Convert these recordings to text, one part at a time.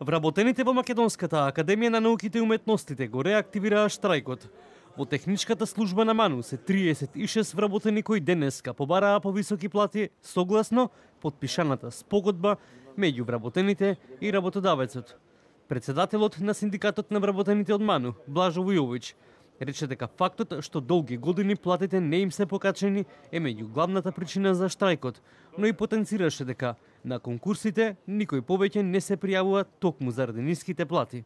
Вработените во Македонската академија на науките и уметностите го реактивираа штрајкот. Во техничката служба на МАНУ се 36 вработени кои денеска побараа повисоки плати согласно потпишаната спогодба меѓу вработените и работодавецот. Председателот на синдикатот на вработените од МАНУ, Блажо Вујовиќ, рече дека фактот што долги години платите не им се покачени е меѓу главната причина за штрајкот, но и потенцираше дека на конкурсите никој повеќе не се пријавува токму заради ниските плати.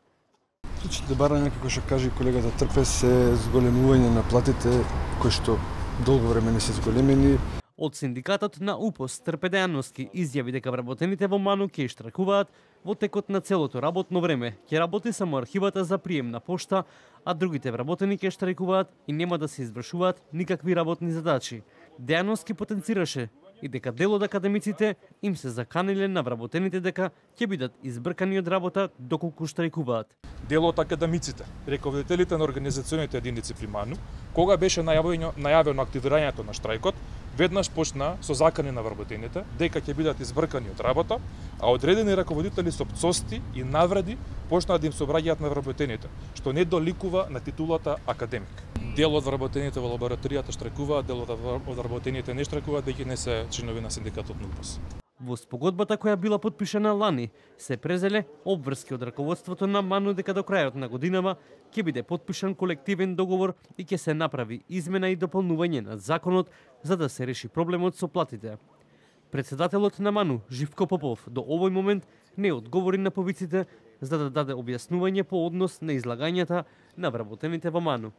Случаите барање, како што кажи колегата Трпес, е зголемување на платите кои што долго време не се зголемени. Од синдикатот на УПОС Трпе Дејановски изјави дека вработените во МАНУ ќе штракуваат во текот на целото работно време. Ќе работи само архивата за прием на пошта, а другите вработени ќе штрайкуваат и нема да се извршуваат никакви работни задачи. Дејановски потенцираше и дека дел од академиците им се заканиле на вработените дека ќе бидат избркани од работа доколку штрајкуваат. Дел од академиците, раководителите на организационите единици при МАНУ, кога беше најавено активирањето на штрајкот, веднаш почна со закани на вработените дека ќе бидат избркани од работа, а одредени раководители со пцости и навреди почнаа да им се обраќаат на вработените, што не доликува на титулата академик. Дел од вработените во лабораторијата штрайкуваат, дел од вработените не штрайкуваат, веќе не се членови на синдикатот на УПОС. Во спогодбата која била потпишана лани, се презеле обврски од раководството на МАНУ дека до крајот на годинава ќе биде потпишан колективен договор и ќе се направи измена и дополнување на законот за да се реши проблемот со платите. Председателот на МАНУ, Живко Попов, до овој момент не одговори на повиците за да даде објаснување по однос на излагањата на вработените во МАНУ.